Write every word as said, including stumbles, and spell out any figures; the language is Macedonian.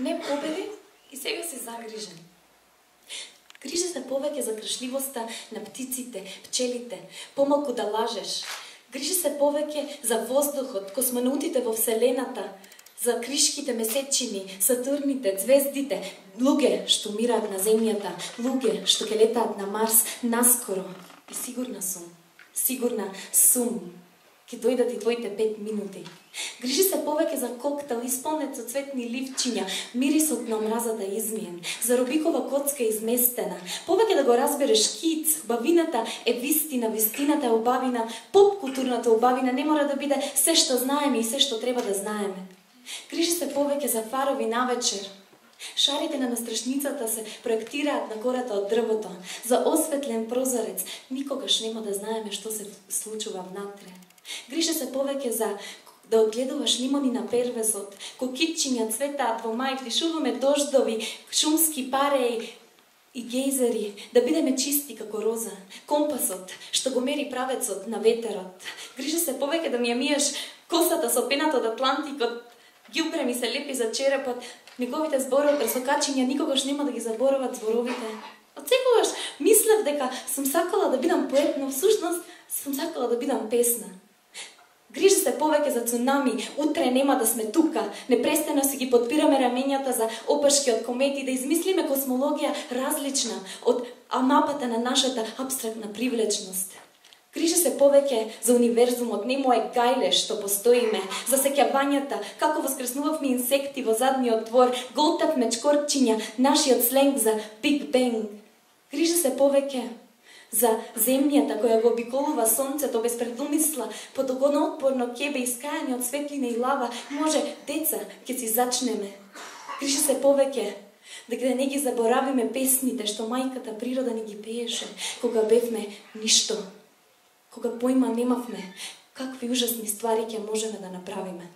не победи и сега си загрижен. Грижи се повеќе за кршливоста на птиците, пчелите, помалку да лажеш. Грижи се повеќе за воздухот, космонавтите во Вселената, за кришките месечини, сатурните, звездите, луѓе што умираат на земјата, луѓе што ќе летаат на Марс наскоро. И сигурна сум, сигурна сум, ќе дојдат и твоите пет минути. Грижи се повеќе за коктел исполнет со цветни ливчиња, мирисот на омразата измиен, за Рубикова коцка изместена. Повеќе да го разбереш киц, бавината е вистина, вистината е убавина, поп културната убавина не мора да биде се што знаеме и се што треба да знаеме. Грижи се повеќе за фарови навечер. Шарите на настрашницата се проектираат на кората од дрвото. За осветлен прозорец никогаш нема да знаеме што се случува внатре. Грижи се повеќе за да одгледуваш лимони на первесот, кокитчиња цветаат во мај, дишуваме дождови, шумски пареи и гейзери, да бидеме чисти како роза, компасот што го мери правецот на ветерот. Грижи се повеќе да ми ја миеш косата со пената од Атлантикот, ѓубре ми се лепи за черепот, неговите зборови, пресокачиња никогаш нема да ги заборават зборовите. Од секогаш мислев дека сум сакала да бидам поет, но всушност сум сакала да бидам песна. Грижи се повеќе за цунами, утре нема да сме тука, непрестано си ги подпираме раменјата за опашки од комети, да измислиме космологија различна од мапата на нашата абстрактна привлечност. Грижи се повеќе за универзумот, не мој гајле што постоиме, за сеќавањата, како воскреснувавме инсекти во задниот двор, голтавме чкорчиња, нашиот сленг за Биг Бенг. Грижи се повеќе за земјата која го обиколува сонцето без предумисла, под огоноотпорно ќебе искајани од светлина и лава, може деца ќе си зачнеме. Грижи се повеќе дека не ги заборавиме песните што мајката природа ни ги пееше кога бевме ништо, кога појма немавме какви ужасни ствари ќе можеме да направиме.